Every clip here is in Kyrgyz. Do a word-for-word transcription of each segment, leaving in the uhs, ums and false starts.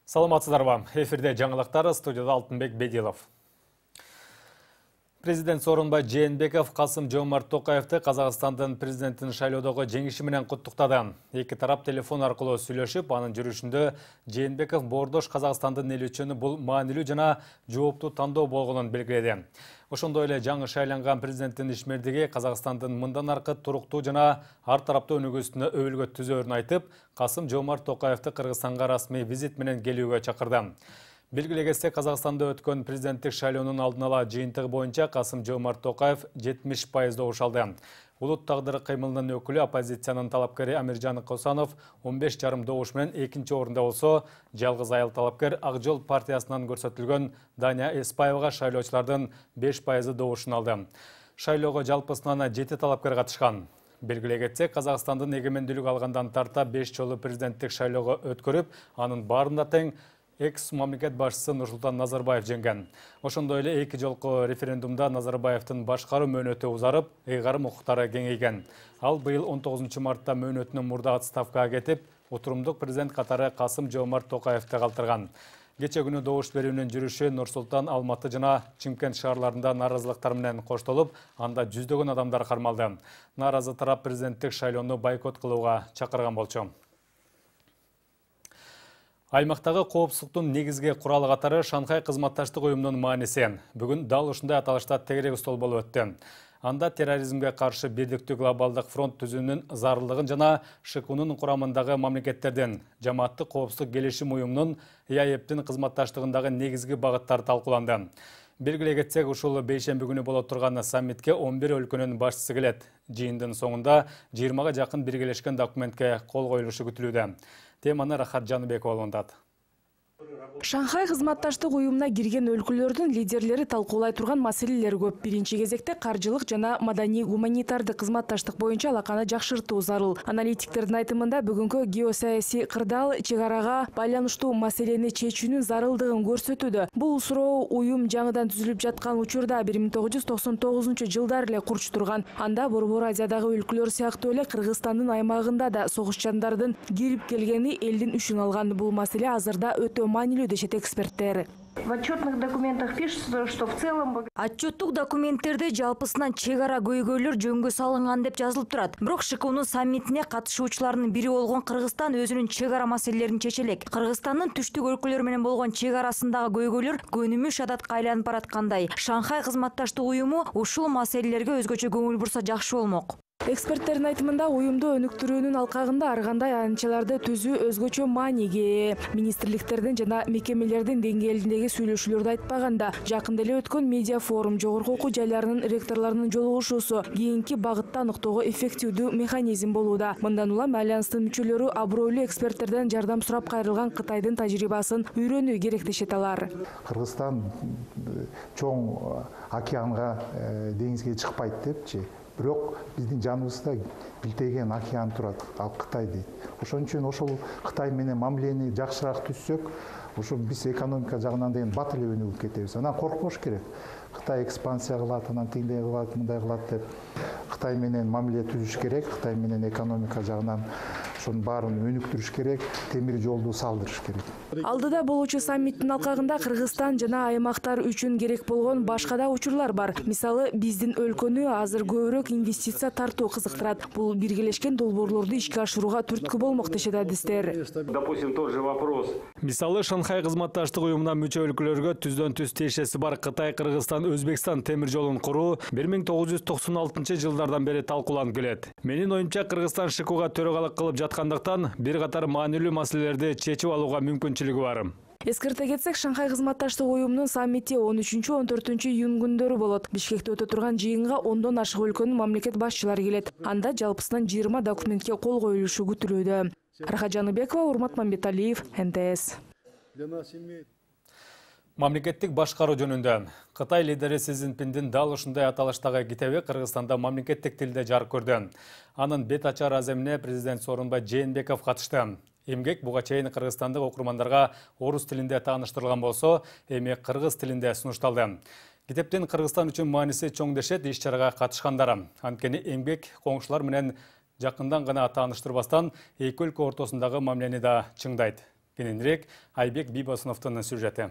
Саламатсыздарбы? Эфирде жаңылыктар, студияда Алтынбек Бедилов. Президент Сооронбай Жээнбеков Касым-Жомарт Токаевди Казакстандын президентин шайлоодогу жеңиши менен куттуктады. Эки тарап телефон аркылуу сүйлөшүп, анын жүрүшүндө Жээнбеков бордош Казакстандын эл үчүн бул маанилүү жана жооптуу тандоо болгонун белгиледи. Ошондой эле жаңы шайланган президенттин ишмердиги Казакстандын мындан аркы туруктуу жана ар тараптуу өнүгүүсүнө өбүлгө түзөөрүн айтып, Касым-Жомарт Токаевди Кыргызстанга расмий визит менен келүүгө чакырды. Белгилегенде Казакстанда өткөн президенттик шайлоонун алдын ала жыйынтыгы боюнча Касым-Жомарт Токаев жетимиш пайыз добуш алды. Улут тагдыры кыймылынын өкүлү оппозициянын талапкери Амиржан Косанов он беш жарым добуш менен экинчи орунда болсо, жалгыз айыл талапкер Ак Жол партиясынан көрсөтүлгөн Дания Эспаевага шайлоочулардын беш пайызы добушун алды. Шайлоого жалпысынан жети талапкер катышкан. Белгилей кетсек, Казакстандын эгемендүүлүк алгандан тарта беш жолу президенттик шайлоого өткөрүп, анын баарында тең экс мамлекет башчысы Нурсултан Назарбаев жеңген. Ошондой эле эки жолку референдумда Назарбаевдин башкаруу мөөнөтү узарып, ыйгарым укуктары кеңейген. Ал быйыл он тогузунчу мартта мөөнөтүнөн мурда отставкага кетип, отурумдук президент катары Касым-Жомарт Токаевди калтырган. Кече күнү добуш берүүнүн жүрүшү Нур-Султан, Алматы жана Чымкент шаарларында нааразылыктар менен коштолуп, анда жүздөгөн адамдар кармалды. Нааразы тарап президенттик шайлоону бойкот кылууга чакырган болчу. Аймактагы коопсуздуктун негизги куралы катары Шанхай кызматташтык уюмунун мааниси. Бүгүн дал ушундай аталышта тегерек стол болуп өттү. Анда терроризмге каршы бирдиктүү глобалдык фронт түзүүнүн зарылдыгын жана ШКУнун курамындагы мамлекеттердин жамааттык коопсуздук келишим уюмунун И А Эптин кызматташтыгындагы негизги багыттары талкууланды. Белгилей кетсек, ушул бейшемби күнү боло турган саммитке он бир өлкөнүн башчысы келет. Жыйындын соңунда жыйырмага жакын биргелешкен документке кол коюлушу күтүлүүдө. Теманы Рахат Жаныбекова алгандат. Шанхай кызматташтык уюмуна кирген өлкөлөрдүн лидерлери талкуулай турган маселелер көп. Биринчи кезекте каржылык жана маданий-гуманитардык кызматташтык боюнча алаканы жакшыртуу зарыл. Аналитиктердин айтымында бүгүнкү геосаясий кырдаал чек арага байланыштуу маселени чечүүнүн зарылдыгын көрсөтүүдө. Бул суроо уюм жаңыдан түзүлүп жаткан учурда бир миң тогуз жүз токсон тогузунчу жылдары эле курчтурган. Анда Борбор Азиядагы өлкөлөр сыяктуу эле Кыргызстандын аймагында да согуш жандардын кирип келгени элдин үшүн алган. Бул маселе азырда өтө маанилүү дешет эксперттер. В отчетных документах пишется, что в целом... Отчеттук документтерде жалпысынан чек ара көйгөйлөр жөнгө салынган деп жазылып турат. Бирок ШКУнун саммитине катышуучулардын бири болгон Кыргызстан өзүнүн чек ара маселелерин чече элек. Кыргызстандын түштүк өлкөлөр менен болгон чек арасындагы көйгөйлөр көнүмүш адатка айланып бараткандай. Шанхай кызматташтык уюму ушул маселелерге өзгөчө көңүл бурса жакшы болмок. Эксперттердин айтымында уюмду өнүктүрүүнүн алкагында ар кандай аянтчаларды түзүү өзгөчө мааниге ээ. Министрликтердин жана мекемелердин деңгээлиндеги сүйлөшүүлөрдү айтпаганда, жакында эле өткөн медиа форум, жогорку окуу жайларынын ректорлорунун жолугушуусу кийинки багытта аныктоого эффективдүү механизм болууда. Мындан улам альянстын мүчөлөрү абройлуу эксперттерден жардам сурап кайрылган Кытайдын тажрыйбасын үйрөнүү керек дешет алар. Кыргызстан чоң океанга, деңизге чыкпайт депчи. Бирок биздин жаныбызда билтеген океан турат, ал Кытай дейт. Ошон үчүн ошол Кытай менен мамилени жакшыраак түзсөк, ошо биз экономика жагынан деген бат эле өнүгүп кетебиз. Анан коркпош керек. Кытай экспансия кылат, анан тиңдей кылат, мындай кылат деп Кытай менен мамиле түзүш керек, Кытай менен экономика жагынан ошонун баарын өнүктүрүш керек, темир жолду салдырыш керек. Алдыда болуучу саммиттин алкагында Кыргызстан жана аймактар үчүн керек болгон башка да учурлар бар. Мисалы, биздин өлкөнү азыр көбүрөөк инвестиция тартуу кызыктырат. Бул биргелешкен долбоорлорду ишке ашырууга түрткү болмок дешет адистер. Допустим, тот же вопрос. Мисалы, Шанхай кызматташтык уюмуна мүчө өлкөлөргө түздөн түз тиешеси бар Кытай, Кыргызстан, Өзбекстан темир жолун куруу бир миң тогуз жүз токсон алтынчы жылдардан бери талкууланып келет. Менин оюмча, Кыргызстан ШКУга төрагалык кылып жаткандыктан бир катар маанилүү маселелерди чечип алууга мүмкүнчүлүгү бар. Эскерте кетсек, Шанхай кызматташтык уюмунун саммити он үчүнчү он төртүнчү июнь күндөрү болот. Бишкекте өтө турган жыйынга ондон ашык өлкөнүн мамлекет башчылары келет. Анда жалпысынан жыйырма документке кол коюлушу күтүлүүдө. Рахат Жаныбекова, Урмат Мамбеталиев, Н Т С. Мамлекеттик башкаруу жөнүндө Кытай лидери Си Цзиньпиндин дал ушундай аталыштагы китеби Кыргызстанда мамлекеттик тилде жарык көрдү. Анын бет ачар аземине президент Сооронбай Жээнбеков катышты. Эмгек буга чейин кыргызстандык окурмандарга орус тилинде тааныштырылган болсо, эми кыргыз тилинде сунушталды. Китептин Кыргызстан үчүн мааниси чоң дешет иш-чарага катышкандар. Анткени эмгек коңшулар менен жакындан гана тааныштырбастан эки өлкө ортосундагы мамилени да чыңдайт. Кененирээк Айбек Бийбосуновдун сюжети.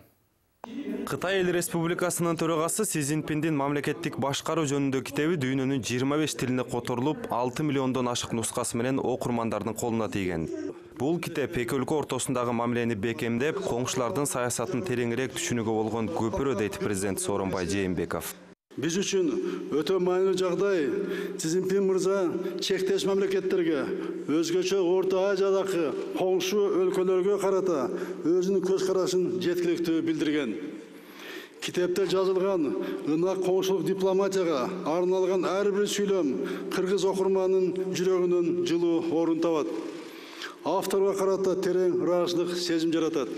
Кытай Эл Республикасынын төрагасы Си Цзиньпиндин мамлекеттик башкаруу жөнүндө китеби дүйнөнүн жыйырма беш тилине которулуп, алты миллиондон ашык нускасы менен окурмандардын колуна тийген. Бул китеп эки өлкө ортосундагы мамилени бекемдеп, коңшулардын саясатын тереңирээк түшүнүүгө болгон көпүрө дейт президент Сооронбай Жээнбеков. Биз үчүн өтө маанилүү жагдай Си Цзиньпин мырза чектеш мамлекеттерге, өзгөчө Орто Азиядагы коңшу өлкөлөргө карата өзүнүн көз карашын жеткиликтүү билдирген. Китепте жазылган ынак коңшулук дипломатияга арналган ар бир сүйлөм кыргыз окурманынын жүрөгүнөн жылуу орун табат. Авторго карата терең ыраазычылык сезим жаратат.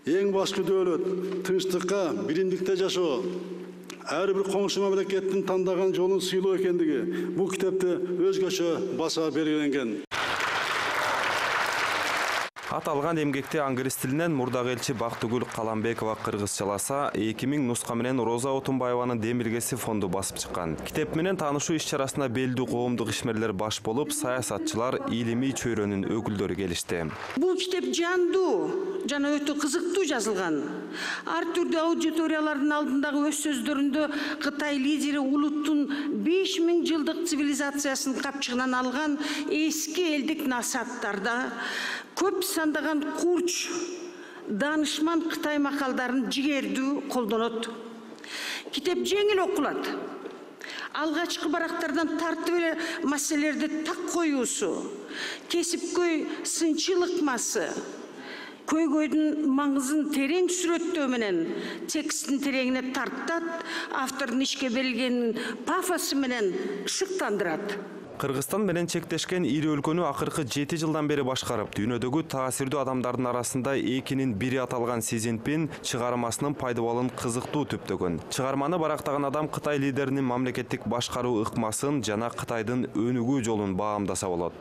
Эң башкы дөөлөт тынчтыкка, биримдикте жашоо. Ар бир коңшу мамлекеттин тандаган жолун сыйлоо экендиги бул китепте өзгөчө баса белгиленген. Аталган эмгекте англис тилинен мурдагы элчи Бактыгүл Каламбекова кыргызчаласа, эки миң нуска менен Роза Отунбаеванын Демилгеси фонду басып чыккан. Китеп менен таанышуу иш-чарасына белдүү коомдук ишмерлер баш болуп, саясатчылар, илимий чөйрөнүн өкүлдөрү келишти. Бул китеп жандуу жана өтө кызыктуу жазылган. Ар түрдүү аудиториялардын алдындагы өз сөздөрүндө Кытай лидери улуттун беш миң жылдык цивилизациясын капчыгынан алган эски элдик насааттарда көп сандаган курч, данышман Кытай макалдарын жигердүү колдонот. Китеп жеңил окулат. Алгачкы барактардан тартып эле маселелерди так коюусу, кесипкөй сынчыл ыкмасы, көйгөйдүн маңызын терең сүрөттөө менен тексттин тереңине тартат, автордун ишке берилгенин пафосу менен шыктандырат. Кыргызстан менен чектешкен ири өлкөнү акыркы жети жылдан бери башкарып, дүйнөдөгү таасирдүү адамдардын арасында экинин бири аталган Си Цзиньпин чыгармасынын пайдабалын кызыктуу түптөгөн. Чыгарманы барактаган адам Кытай лидеринин мамлекеттик башкаруу ыкмасын жана Кытайдын өнүгүү жолун баамдаса болот.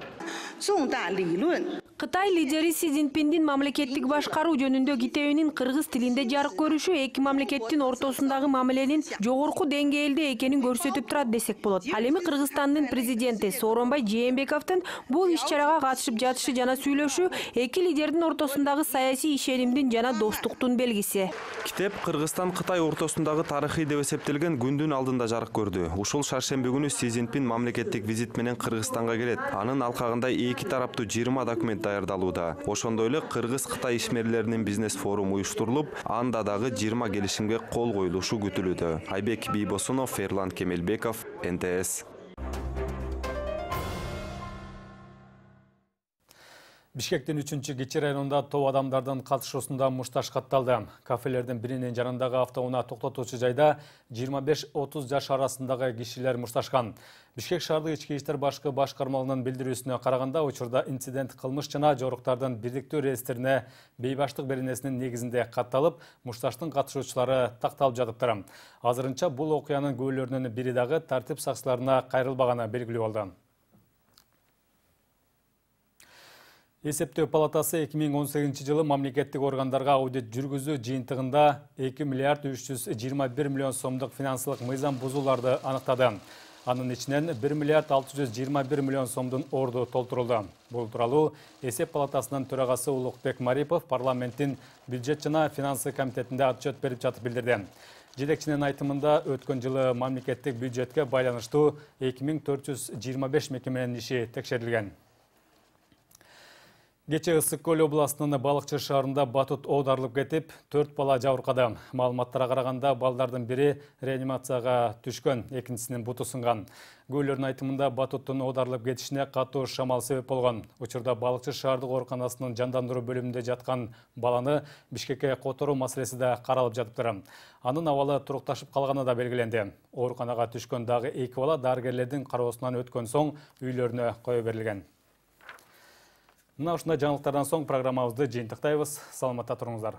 Кытай лидери Си Цзиньпиндин мамлекеттик башкаруу жөнүндө китебинин кыргыз тилинде жарык көрүшү эки мамлекеттин ортосундагы мамиленин жогорку деңгээлде экенин көрсөтүп турат десек болот. Ал эми Кыргызстандын президенти Сооронбай Жээнбековдун бул иш-чарага катышып жатышы жана сүйлөшүү эки лидердин ортосундагы саясий ишенимдин жана достуктун белгиси. Китеп Кыргызстан Кытай ортосундагы тарыхый деп эсептелген күндүн алдында жарык көрдү. Ушул шаршемби күнү Си Цзиньпин мамлекеттик визит менен Кыргызстанга келет. Анын алкагында эки тараптуу жыйырма документ даярдалууда. Ошондой эле Кыргыз-Кытай ишмерлеринин бизнес форуму уюштурулуп, анда дагы жыйырма келишимге кол коюлушу күтүлүүдө. Айбек Бийбосунов, Эрлан Кемелбеков, Эн Тэ Эс. Бишкектин үчүнчү Кичи районунда топ адамдардын катышуусунда мушташ катталды. Кафелердин биринин жанындагы автоунаа токтотуучу жайда жыйырма беш отуз жаш арасындагы кишилер мушташкан. Бишкек шаардык ички иштер башкы башкармалыгынын билдирүүсүнө караганда, учурда инцидент кылмыш жана жоруктардын бирдиктүү реестрине бейбаштык беренесинин негизинде катталып, мушташтын катышуучулары такталып жатыптыр. Азырынча бул окуянын күбөлөрүнүн бири дагы тартип сакчыларына кайрылбаганы белгилүү болду. Эсептөө палатасы эки миң он сегизинчи жылы мамлекеттик органдарга аудит жүргүзүү жыйынтыгында эки миллиард үч жүз жыйырма бир миллион сомдук финансылык мыйзам бузууларды аныктады. Анын ичинен бир миллиард алты жүз жыйырма бир миллион сомдун орду толтурулду. Бул тууралуу Эсеп палатасынын төрагасы Улукбек Марипов парламенттин бюджет жана финансы комитетинде отчет берип жатып билдирди. Жетекчинин айтымында өткөн жылы мамлекеттик бюджетке байланыштуу эки миң төрт жүз жыйырма беш мекеменин иши текшерилген. Кече Ысык-Көл областынын Балыкчы шаарында батут оодарылып кетип, төрт бала жабыркады. Маалыматтарга караганда балдардын бири реанимацияга түшкөн, экинчисинин буту сынган. Күбөлөрдүн айтымында батуттун оодарылып кетишине катуу шамал себеп болгон. Учурда Балыкчы шаардык ооруканасынын жандандыруу бөлүмүндө жаткан баланы Бишкекке которуу маселеси да каралып жатыптыр. Анын абалы турукташып калганы да белгиленди. Ооруканага түшкөн дагы эки бала дарыгерлердин кароосунан өткөн соң үйлөрүнө кое берилген. Мына ушундай жаңылыктардан соң программабызды жыйынтыктайбыз. Саламатта туруңуздар.